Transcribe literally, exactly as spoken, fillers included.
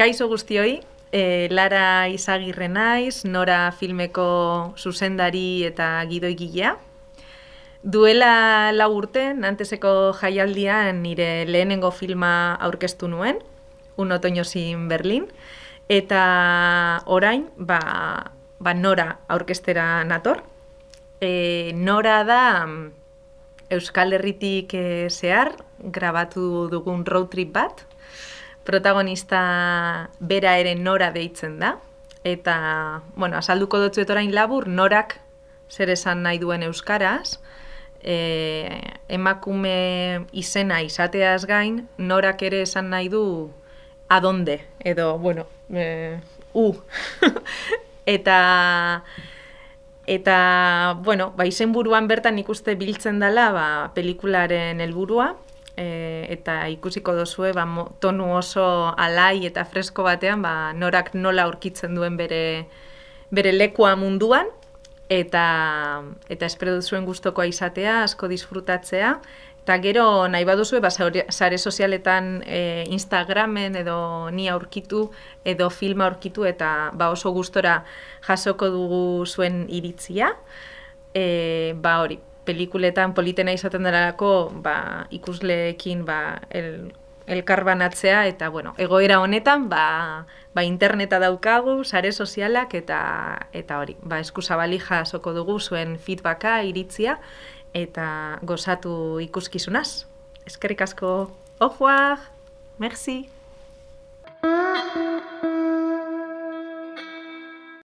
Kaixo guztioi, e, Lara Izagirre naiz, Nora filmeko zuzendari eta gidoigilea. Duela lau urte, Nanteseko jaialdian nire lehenengo filma aurkeztu nuen, Un otoño sin Berlin, eta orain, ba, ba Nora aurkeztera nator. E, Nora da Euskal Herritik e, zehar, grabatu dugun road trip bat, protagonista bera ere Nora deitzen da, eta, bueno, azalduko dutzuet orain labur, Norak zer esan nahi duen euskaraz, e, emakume izena izateaz gain, Norak ere esan nahi du adonde, edo, bueno, e, u. eta, eta, bueno, ba, izenburuan bertan ikuste biltzen dela, ba, pelikularen helburua, E, eta ikusiko dozue ba, tonu oso alai eta fresko batean ba, Norak nola aurkitzen duen bere, bere lekua munduan, eta, eta espero duzuen gustokoa izatea, asko disfrutatzea, eta gero nahi baduzue ba, sare sozialetan e, Instagramen edo ni aurkitu edo filma aurkitu eta ba, oso gustora jasoko dugu zuen iritzia, e, ba hori. Pelikuletan politena izaten delako ba, ikusleekin ba, el, elkarbanatzea eta bueno, egoera honetan ba, ba, interneta daukagu, sare sozialak eta, eta hori, ba, eskuzabali jasoko dugu zuen feedbacka, iritzia eta gozatu ikuskizunaz. Eskerrik asko, au revoir, merci!